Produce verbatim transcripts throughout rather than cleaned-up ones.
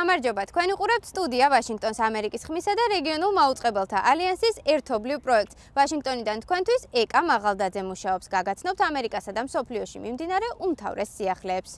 გამარჯობა, თქვენ უყურებთ სტუდია ვაშინგტონის ამერიკის ხმისა და რეგიონულ მაუწყებელთა ალიანსის ერთობლივ პროექტს. ვაშინგტონიდან თქვენთვის ეკა მაღალდაძე მუშაობს. გაგაცნობთ ამერიკასა და მსოფლიოში მიმდინარე უმთავრეს სიახლეებს.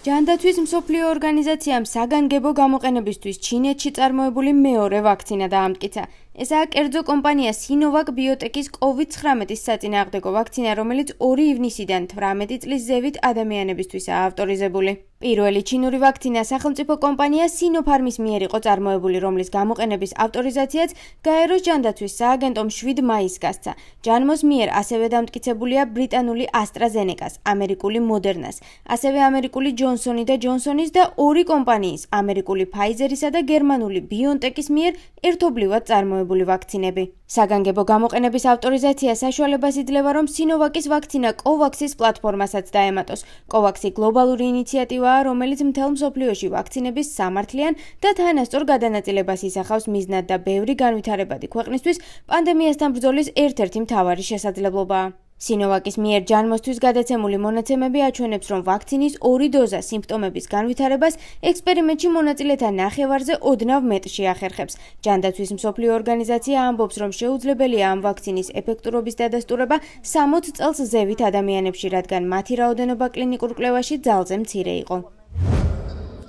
ჯანდაცვის მსოფლიო ორგანიზაციამ საგანგებო გამოყენებისთვის ჩინეთში წარმოებული მეორე ვაქცინა დაამტკიცა. ესაა კერძო კომპანია სინოვაკ ბიოტეკის კოვიდ ცხრამეტის საწინააღმდეგო ვაქცინა, რომელიც ორი ივნისიდან თვრამეტი წლის ზევით ადამიანებისთვისაა ავტორიზებული. პირველი ჩინური ვაქცინა სახელმწიფო კომპანია სინოფარმის მიერ იყო წარმოებული, რომლის გამოყენების ავტორიზაციაც გაეროს ჯანდაცვის სააგენტომ შვიდ მაისს გასცა. ჯანმოს მიერ ასევე დამტკიცებულია ბრიტანული ასტრაზენეკას, ამერიკული მოდერნას, ასევე ამერიკული ჯონსონი და ჯონსონის და ორი კომპანიის, ამერიკული ფაიზერისა და გერმანული ბიონტეკის მიერ ერთობლივად წარმოებული ვაქცინები. საგანგებო გამოყენების ავტორიზაცია საშუალებას იძლევა, რომ სინოვაკის ვაქცინა კოვაქსის პლატფორმასაც დაემატოს. კოვაქსი გლობალური ინიციატივაა, რომელიც მთელ მსოფლიოში ვაქცინების სამართლიან და თანასწორ გადანაწილებას ისახავს მიზნად და ბევრი განვითარებადი ქვეყნისთვის პანდემიასთან ბრძოლის ერთ-ერთი მთავარი შესაძლებლობაა. სინოვაკის მიერ ჯანმოსთვის გადაცემული მონაცემები აჩვენებს, რომ ვაქცინის ორი დოზა სიმპტომების განვითარებას ექსპერიმენტში მონაწილეთა ნახევარზე ოდნავ მეტში ახერხებს. ჯანდაცვის მსოფლიო ორგანიზაცია ამბობს, რომ შეუძლებელია ამ ვაქცინის ეფექტურობის დადასტურება სამოც წელს ზევით ადამიანებში, რადგან მათი რაოდენობა კლინიკურ კვლევაში ძალზე მცირე იყო.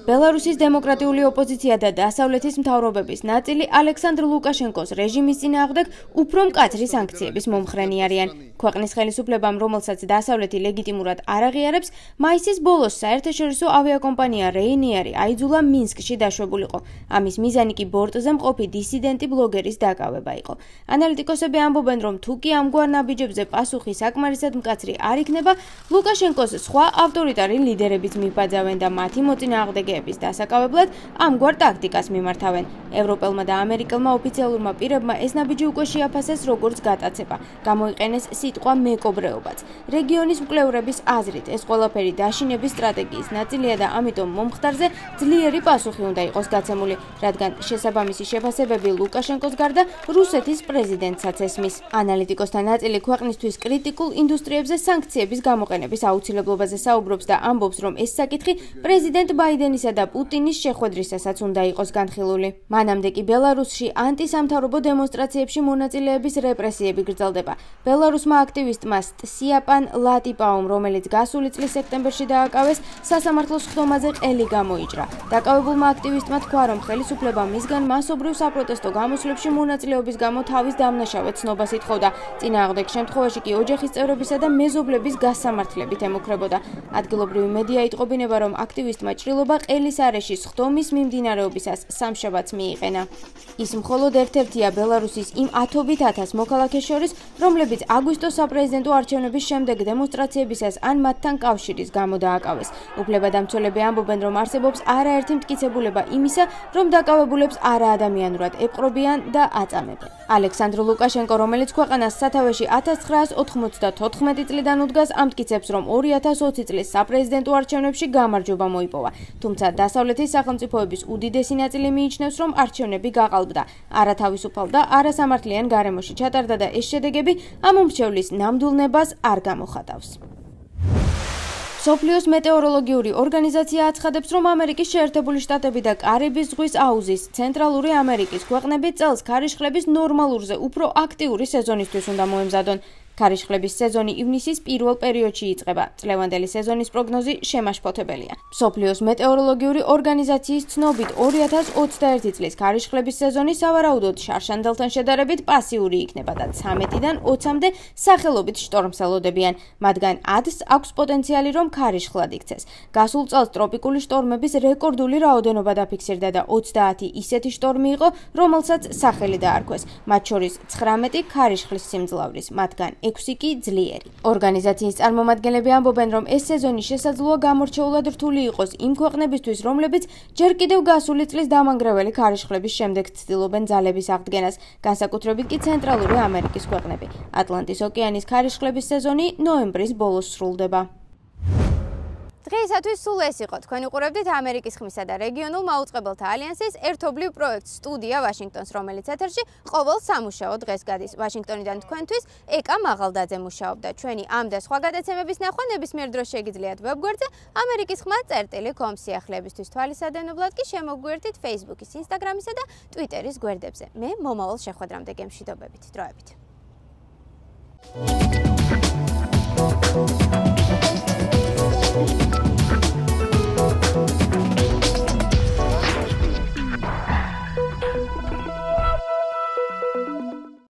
ბელარუსის დემოკრატიული ოპოზიცია და დასავლეთის მთავრობების ნაწილი ალექსანდრ ლუკაშენკოს რეჟიმის წინააღმდეგ უფრო მკაცრი სანქციების მომხრენი არიან. ქვეყნის ხელისუფლებამ, რომელსაც დასავლეთი ლეგიტიმურად არ აღიარებს, მაისის ბოლოს საერთაშორისო ავიაკომპანია რეინეარი აიძულა მინსკში დაშვებულიყო. ამის მიზანი კი ბორტზე მყოფი დისიდენტი ბლოგერის დაკავება იყო. ანალიტიკოსები ამბობენ, რომ თუ კი ამგვარ ნაბიჯებზე პასუხი საკმარისად მკაცრი არ იქნება, ლუკაშენკოს სხვა ავტორიტარი ლიდერებიც მიბაძავენ და მათი მოწინააღმდეგეების დასაკავებლად ამგვარ ტაქტიკას მიმართავენ. ევროპელმა და ამერიკელმა ოფიციალურმა პირებმა ეს ნაბიჯი უკვე შეაფასეს როგორც გატაცება. გამოიყენეს სიტყვა მეკობრეობაც. რეგიონის მკვლევრების აზრით, ეს ყველაფერი დაშინების სტრატეგიის ნაწილია და ამიტომ მომხდარზე ძლიერი პასუხი უნდა იყოს გაცემული, რადგან შესაბამისი შეფასებები ლუკაშენკოს გარდა რუსეთის პრეზიდენტსაც ესმის. ანალიტიკოსთა ნაწილი ქვეყნისთვის კრიტიკულ ინდუსტრიებზე სანქციების გამოყენების აუცილებლობაზე საუბრობს და ამბობს, რომ ეს საკითხი პრეზიდენტ ბაიდენისა და პუტინის შეხვედრისასაც უნდა იყოს განხილული. მანამდე კი ბელარუსში ანტისამთავრობო დემონსტრაციებში მონაწილეების რეპრესიები გრძელდება. ბელარუსმა აქტივისტმა სტსიაპან ლატიპაუმ, რომელიც გასული წლის სექტემბერში დააკავეს, სასამართლოს ხდომაზე ყელი გამოიჭრა. დაკავებულმა აქტივისტმა თქვა, რომ ხელისუფლება მისგან მასობრივ საპროტესტო გამოსვლებში მონაწილეობის გამო თავის დამნაშავედ ცნობას ითხოვდა. წინააღმდეგ შემთხვევაში კი ოჯახის წევრებისა და მეზობლების გასამართლებით ემუქრებოდა. ადგილობრივი მედია იტყობინება, რომ აქტივისტმა ჭრილობა ყელის არეშის ხდომის მიმდინარეობისას სამშაბათს მიიყენა. ის მხოლოდ ერთ-ერთია ბელარუსის იმ ათობით ათას მოქალაქეს შორის, რომლებიც აგვისტოს საპრეზიდენტო არჩევნების შემდეგ დემონსტრაციებისას ან მათთან კავშირის გამო დააკავეს. უფლებადამცველები ამბობენ, რომ არსებობს არაერთი მტკიცებულება იმისა, რომ დაკავებულებს არაადამიანურად ეპყრობიან და აწამებენ. ალექსანდრ ლუკაშენკო, რომელიც ქვეყანას სათავეში ათას ცხრაას ოთხმოცდათოთხმეტი წლიდან უდგას, ამტკიცებს, რომ ორი ათას ოცი წლის საპრეზიდენტო არჩევნებში გამარჯვება მოიპოვა. თუმცა დასავლეთის სახელმწიფოების უდიდესი ნაწილი მიიჩნევს, რომ არჩევნები გაყალბდა, არათავისუფალ და არასამართლიან გარემოში ჩატარდა და ეს შედეგები ამ უმრჩევლის ნამდვილნებას არ გამოხატავს. მსოფლიოს მეტეოროლოგიური ორგანიზაცია აცხადებს, რომ ამერიკის შეერთებული შტატები და კარიბის ზღვის აუზის, ცენტრალური ამერიკის ქვეყნები წელს ქარიშხლების ნორმალურზე უფრო აქტიური სეზონისთვის უნდა მოემზადონ. ქარიშხლების სეზონი ივნისის პირველ პერიოდში იწყება. წლევანდელი სეზონის პროგნოზი შემაშფოთებელია. მსოფლიოს მეტეოროლოგიური ორგანიზაციის ცნობით, ორი ათას ოცდაერთი წლის ქარიშხლების სეზონი სავარაუდოდ შარშანდელთან შედარებით პასიური იქნება და ცამეტიდან ოცამდე სახელობით შტორმსელოდებიან. მათგან ათს აქვს პოტენციალი, რომ ქარიშხლად იქცეს. გასულ წელს ტროპიკული შტორმების რეკორდული რაოდენობა დაფიქსირდა და ოცდაათი ისეთი შტორმი იყო, რომელსაც სახელი დაარქვეს. მათ შორის ცხრამეტი ქარიშხლის სიმძლავრის, მათგან ექვსი კი ძლიერი. ორგანიზაციის წარმომადგენლები ამბობენ, რომ ეს სეზონი შესაძლოა გამორჩეულად რთული იყოს იმ ქვეყნებისთვის, რომლებიც ჯერ კიდევ გასული წლის დამანგრეველი ქარიშხლების შემდეგ ცდილობენ ძალების აღდგენას, განსაკუთრებით კი ცენტრალური ამერიკის ქვეყნები. ატლანტის ოკეანის ქარიშხლების სეზონი ნოემბრის ბოლოს სრულდება. დღეისათვის სულ ეს იყო. თქვენ უყურებდით ამერიკის ხმისა და რეგიონულ მაუწყებელთა ალიანსის ერთობლივ პროექტ სტუდია ვაშინგტონს, რომელიც ეთერში ყოველ სამუშაო დღეს გადის. ვაშინგტონიდან თქვენთვის ეკა მაღალდაძე მუშაობდა. ჩვენი ამ და სხვა გადაცემების ნახვა ნებისმიერ დროს შეგიძლიათ ვებგვერდზე ამერიკის ხმა წერტილი კომ სიახლეებისთვის თვალისადენობლად კი შემოგვიერთით Facebook-ის, Instagram-ისა და Twitter-ის გვერდებზე. მე მომავალ შეხვედრამდე გემშვიდობებით. დროებით.